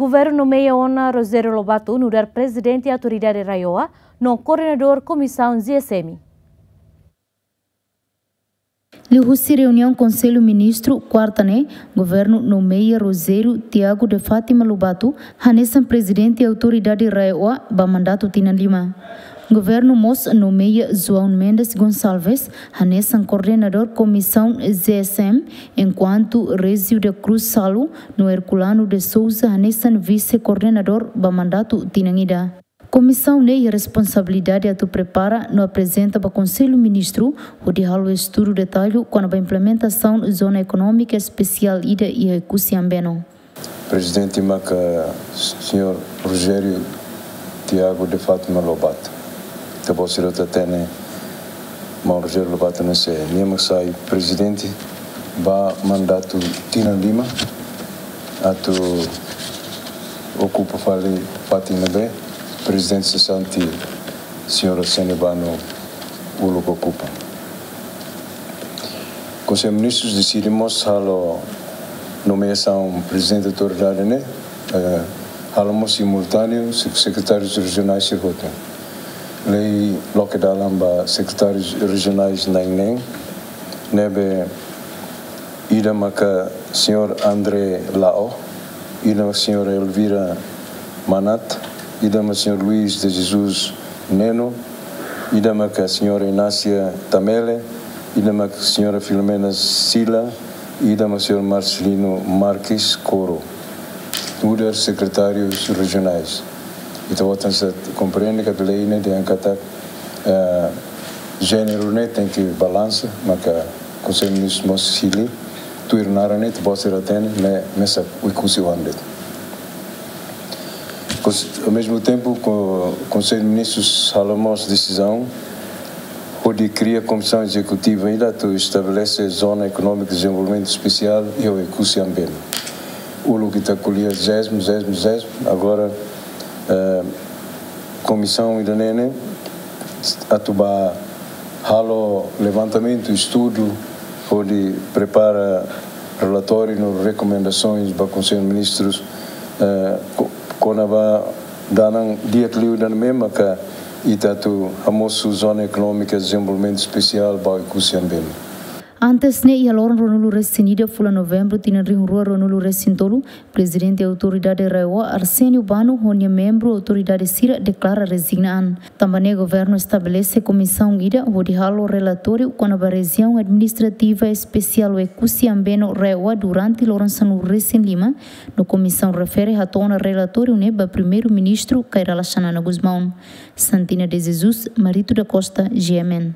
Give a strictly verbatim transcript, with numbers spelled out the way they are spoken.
Governu nomeia ona Rogério Lobato nu'udar Prezidente Autoridade RAEOA no Koordenadór Komisaun G S M. Liuhusi reuniaun Konsellu Ministru, kuarta ne'e, Governu nomeia Rogério Tiago de Fátima Lobato hanesan Prezidente Autoridade RAEOA ba mandatu tinan lima. Governu mós nomeia João Mendes Gonçalves hanesan Koordenadór Komisaun G S M, enkuantu Régio da Cruz Salu no Herculano de Sousa hanesan Vise-Koordenadór ba mandatu tinan ida. Komisaun ne'e iha responsabilidade atu prepara no aprezenta ba Konsellu Ministru, hodi halo estudu detallu kona-ba implementasaun Zona Ekonómika Espesiál ida iha Oekusi Ambeno. Prezidente maka Señór Rogério Tiago de Fátima Lobato. Ita-boot sira hotu hatene maun Rogério Lobato ne'e sé, nia mak sai Prezidente ba mandatu tinan lima, atu okupa fali fatin ne'ebé Prezidente sesante Señora Sene Bano uluk okupa. Konsellu Ministrus deside mós halo nomeasaun Prezidente Autoridade ne'e, eh, halo mós simultáneu sek-, sekretárius rejionais sira hotu. Lei loke dalan ba sekretárius rejionais na'in-neen, ne'ebé ida maka Señór André Lao, ida maka Señora Elvira Manat, ida maka Señór Luís de Jesus Neno, ida maka Señora Inácia Tamele, ida maka Señora Filomena Sila, ida maka Señór Marcelino Marques Coro. Nu'udar sekretárius rejionais. Ita-boot sira komprende katak lei ne'e dehan katak, eh, jéneru ne'e tenke balansa, maka Konsellu Ministrus mós hili, tuir naran ne'e, ita-boot sira hatene, ne'e mesak Oekusi oan de'it. Kons-, ao mesmo tempo, ko-, Konsellu Ministrus halo mós desizaun hodi kria komisaun ezekutiva ida atu estabelese Zona Ekonómika de Dezenvolvimentu Espesiál iha Oekusi Ambeno. Uluk ita ko'alia zesmu, zesmu, zesmu, agora, eh, komisaun ida-ne'e ne'e atu ba halo levantamentu, estudu, hodi prepara relatóriu no rekomendasoens ba Konsellu Ministrus, eh, ko-, kona-ba dalan di'ak liu ida-ne'e maka ita atu hamosu Zona Ekonómika Dezenvolvimentu Espesiál ba Oekusi Ambeno. Antes ne'e, iha loron ruanulu-resin-ida fulan Novembru tinan rihun rua ruanulu-resin-tolu, Prezidente Autoridade RAEOA Arsénio Bano ho nia membru autoridade sira deklara rezigna an. Tanba ne'e Governu estabelese komisaun ida hodi halo relatóriu kona-ba Rejiaun Administrativa Espesiál Oekusi Ambeno RAEOA durante loron sanulu-resin-lima, no komisaun refere hato'o ona relatóriu ne'e ba Primeiru-Ministru Kay Rala Xanana Gusmão. Santina de Jesus, Marito da Costa, G M N.